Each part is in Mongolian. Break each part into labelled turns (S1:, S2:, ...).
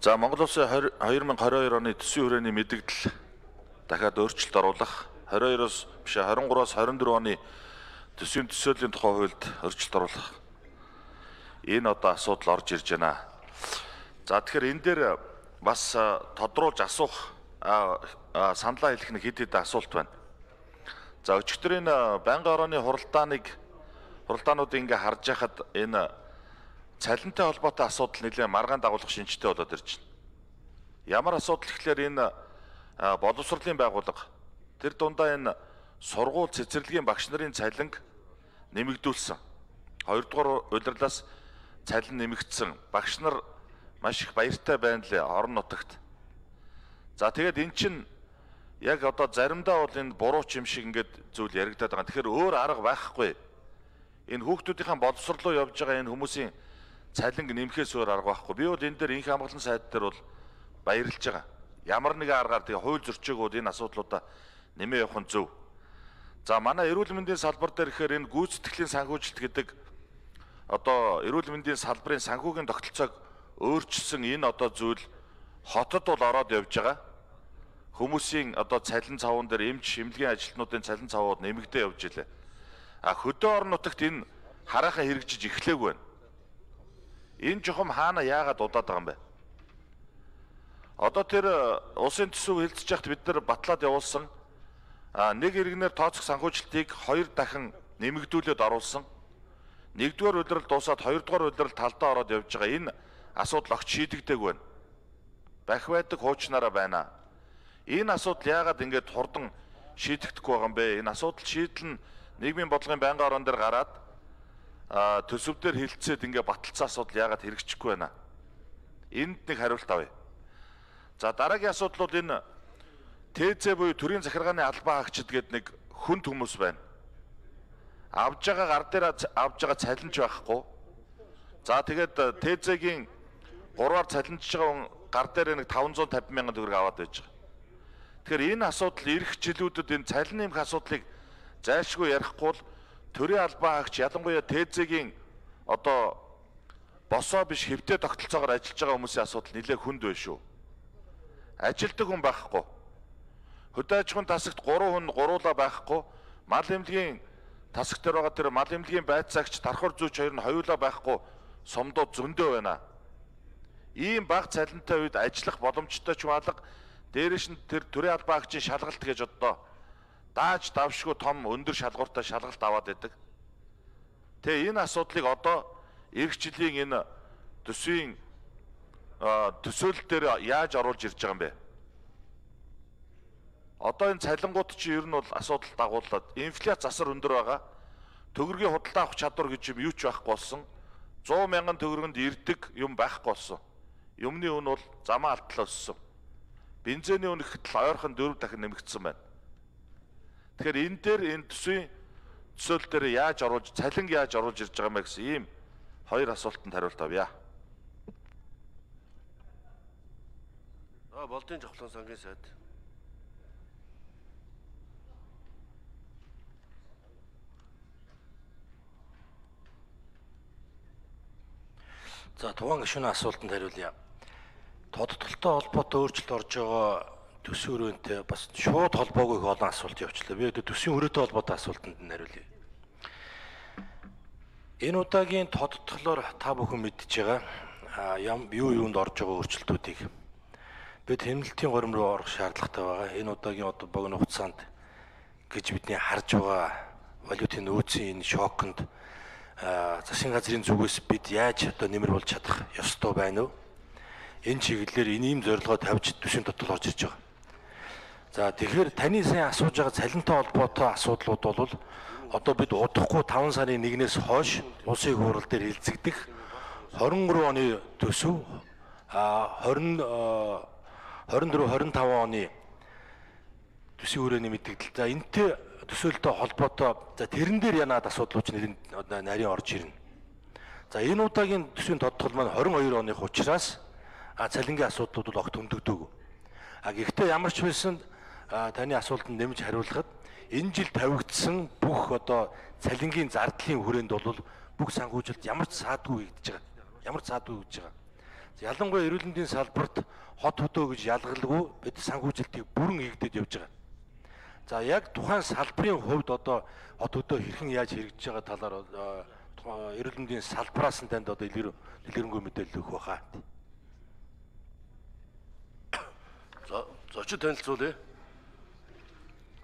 S1: За Монгол Улсын 2022 оны төсвийн хүрээний мэдээлэл дахиад өөрчлөлт оруулах 22-оос биш 23-аас 24 оны төсвийн төсөөллийн тухай хуульд өөрчлөлт оруулах энэ одоо асуудал орж ирж байна. За тэгэхээр энэ дээр бас тодруулж асуух саналаа хэлэх нэг хэд хэдэн асуулт байна. За өчигдрийн байнгын орооны хуралдаануудыг ингээ харж байхад энэ цалинтай холбоотой асуудал нэлээд маргаан дагуулах шинжтэй болоод ирж байна. Ямар асуудал гэхлээр энэ боловсролын байгууллага тэр дундаа энэ сургууль цэцэрлэгийн багш нарын цалинг нэмэгдүүлсэн. Хоёрдугаар удирлаас цалин нэмэгдсэн. Багш нар маш их баяртай байна лээ орон нутагт. За тэгээд эн чинь яг одоо заримдаа бол энэ буруу ч юм шиг ингээд зүйл яригадаад байгаа. Тэгэхээр өөр арга байхгүй. Энэ хүүхдүүдийн боловсрол руу явж байгаа энэ хүмүүсийн цалинг нэмэхээс өөр арга байхгүй. Би бол энэ дээр инх хамгаалсан сайд дээр бол баярлж байгаа. Ямар нэгэн аргаар тэгээ хууль зөрчөөгөө энэ асуудлуудаа нэмээ явах нь зөв. За манай эрүүл мэндийн салбар дээр ихээр энэ гүйцэтгэлийн санхүүжилт гэдэг одоо эрүүл мэндийн салбарын санхүүгийн тогтолцоог өөрчилсөн энэ одоо зүйл хотод бол ороод явж байгаа. Хүмүүсийн одоо цалин цавуун дээр эмч шимлэгийн ажилтнуудын цалин цавууд нэмэгдээ явж илээ. Хөдөө орон нутагт энэ хараахан хэрэгжиж эхлэегүй байна. Энэ жохом хаана яагаад удаад байгаа юм бэ? Одоо тэр улсын төсөв хэлцэж яхад бид нар батлаад явуулсан нэг иргэнээр тооцох санхүүжилтийг 2 дахин нэмэгдүүлээд оруулсан. Нэгдүгээр удирдал дуусаад хоёрдугаар удирдал талдаа ороод явж байгаа энэ асуудал огт шийдэгдээгүй байна. Бах байдаг хуучнаараа байна. Энэ асуудал яагаад ингэж хурдан шийдэгдэхгүй байгаа юм бэ? Энэ асуудал шийдэл нь нийгмийн бодлогын байнгын орон дээр гараад төсөв дээр хилцээд ингээ баталсан асуудал яагаад хэрэгжихгүй байна? Энд нэг хариулт авъя. За дараагийн асуудал бол энэ ТЗ буюу төрийн захиргааны албан хаагчид гэдэг нэг хүнд хүмүүс байна. Авж байгаа гар дээр авж байгаа цалинж байхгүй. За тэгээд ТЗ-гийн 3-аар цалинжж байгаа гар дээр нэг 550 мянган төгрөг аваад байж байгаа. Тэгэхээр энэ асуудал ирэх жилүүдэд энэ цалин нэмэх асуудлыг зайлшгүй ярихгүй бол төрийн албан хаагч ялангуяа ТЗ-гийн одоо босоо биш хэвтэ тогтолцоогоор ажиллаж байгаа хүмүүсийн асуудал нэлээд хүнд байна шүү. Ажилдаг хүн байхгүй. Хөдөө аж ахуйн тасагт 3 хүн гуруула байхгүй. Мал эмнэлгийн тасагт дээр байгаа тэр мал эмнэлгийн байцаагч дархур зүйч хоёр нь хоёулаа байхгүй. Сумдууд зөндөө байна. Ийм бага цалинтай үед ажиллах боломжтой ч малга дээрээс нь тэр төрийн албан хаагчийн шалгалт гэж одоо дааж давшгүй том өндөр шалгууртай шалгалт аваад байдаг. Тэгээ энэ асуудлыг одоо эх жилийн энэ төсвийн төсөөлөл дээр яаж оруулж ирж байгаа юм бэ? Одоо энэ цалингууд чи ер нь бол асуудал дагууллаад инфляц засар өндөр байгаа. Төгрөгийн худалдаа авах чадвар гэж юм юу ч байхгүй болсон. 100 мянган төгрөгөнд ирдэг юм байхгүй болсон. Юмны үн бол замаа алтлаа өссөн. Бензиний үн ихэд ойрхон 4 дахин нэмэгдсэн байна. Тэгэхээр энэ дээр энэ төсвийн төсөөлөл дээр яаж оруулж цалинг яаж оруулж ирж байгаа юм бэ гэсэн ийм хоёр асуултанд хариулт авъя.
S2: Болдын жавхлан сангийн сайд.
S3: За тухайн гишүүний асуултанд хариулъя. Тодтолтой холбоотой өөрчлөлт орж байгаа төсвийн хүрээтэй бас шууд холбоогүй их олон асуулт явууллаа. Би төсвийн хүрээтэй холбоотой асуултанд нь хариулъя. Энэ удаагийн тодтолоор та бүхэн мэдж байгаа юунд орж байгаа өөрчлөлтүүдийг бид хэмнэлтийн горим руу орох шаардлагатай байгаа. Энэ удаагийн одоо богино хугацаанд гэж бидний харж байгаа валютын нөөцийн энэ шоконд засгийн газрын зүгээс бид яаж одоо нэмэр болж чадах ёстой байна вэ? Энэ чиглэлээр ийм зорилгоо тавьж төсвийн дотор орж ирж байгаа. За тэгэхээр таны сайн асууж байгаа цалинтай холбоотой асуудлууд бол одоо бид удахгүй 5 сарын 1-ээс хойш улсын хурал дээр хилцэгдэх 23 оны төсөв 24-25 оны төсвийн хүрээний мэдээлэл. За энэтэй төсөөлөлтөй холбоотой за тэрэн дээр янаад асуудлууч нарийн орж ирнэ. За энэ удаагийн төсвийн тодтол маань 22 оных учраас цалингийн асуудлууд бол огт хөндөгдөөгүй. Гэхдээ ямар ч байсан таны асуултанд нэмж хариулахад энэ жил тавигдсан бүх одоо цалингийн зардлын хүрээнд бол бүх санхүүжилт ямар ч саадгүй хийгдэж байгаа. Ямар ч саадгүй хийж байгаа. Ялангуяа эрүүл мэндийн салбарт хот хөдөө гэж ялгалгүй бид санхүүжилтийг бүрэн хийгдэж явж байгаа. За яг тухайн салбарын хувьд одоо хот хөдөө хэрхэн яаж хэрэгжиж байгаа талаар эрүүл мэндийн салбараас нь танд одоо илэрэнгүй мэдээлэл өгөх байхаа.
S2: За зочид танилцуулъя.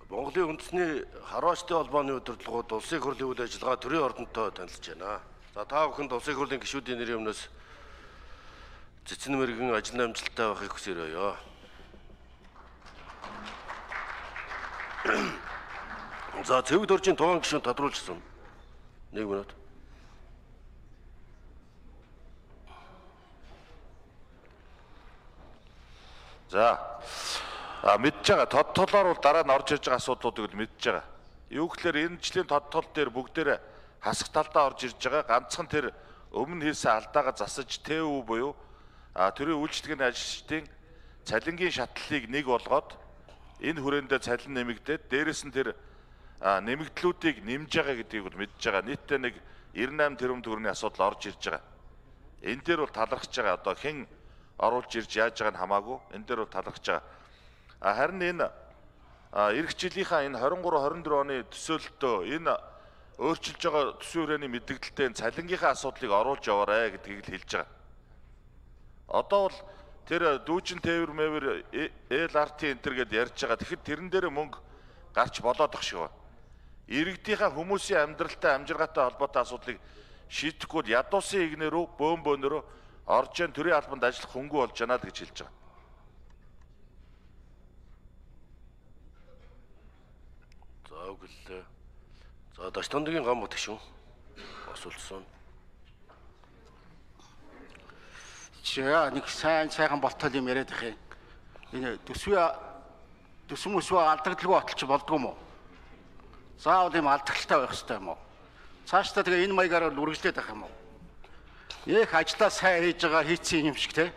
S2: Монголын үндэсний харваачдын холбооны удирдлагууд улсын хурлын үйл ажиллагаа төрийн ордонтой танилцж байна. За та бүхэнд улсын хурлын гишүүдийн нэрийн өмнөөс цэцэн мэргэн ажил амжилттай байхыг хүсээрөөё. За цэвэг дөржийн тухайн гишүүн тодруулжсэн. 1 минут.
S1: За мэдж байгаа тод толоор бол дараа нь орж ирж байгаа асуудлуудыг л мэдж байгаа. Юу гэхээр энэ жилийн тод тол дээр бүгдээр хасах талдаа орж ирж байгаа. Ганцхан тэр өмнө хийсэн алдаагаа засаж ТЭВ буюу төрийн үйлчлэгээний ажилчдын цалингийн шатлалыг нэг болгоод энэ хүрээндээ цалин нэмэгдээд дээрэс нь тэр нэмэгдлүүдийг нэмж байгаа гэдгийг бол мэдж байгаа. Нийтдээ нэг 98 тэрбум төгрөгийн асуудал орж ирж байгаа. Энэ дээр бол талархж байгаа. Одоо хэн оруулж ирж яаж байгааг нь хамаагүй энэ дээр бол талархж байгаа. Харин энэ эх жилийнхаа энэ 23 24 оны төсөөлөлтөө энэ өөрчилж байгаа төсвийн хүрээний мэдээлэлтэй цалингийнхаа асуудлыг оруулж яваарэ гэдгийг л хэлж байгаа. Одоо бол тэр дүүжин тээвэр мэвэр ЛРТ энтер гэдээ ярьж байгаа. Тэгэхэд тэрэн дээр мөнгө гарч болоод ах шиг ба. Иргэдийнхаа хүмүүсийн амьдралтай амжиргаатай холбоотой асуудлыг шийдэхгүй ядуусын игнэрүү бөөнбөөнөрөө орж ийн төрийн албанд ажиллах хөнгө болж байна л гэж хэлж байгаа.
S2: За үгэлээ. За Дашдонгийн гам гişүн асуулсан.
S4: Чаа нэг сайхан болтол юм яриад их юм. Энэ төсвөмөсөө алдагдaltaгүй баталч болдгоо юм уу? Заавал юм алдагдaltaй байх хэрэгтэй юм уу? Цаашдаа тэгээ энэ маягаар үргэлжлээд байх юм уу? Их ажлаа сайн хийж байгаа хийцэн юм шиг те.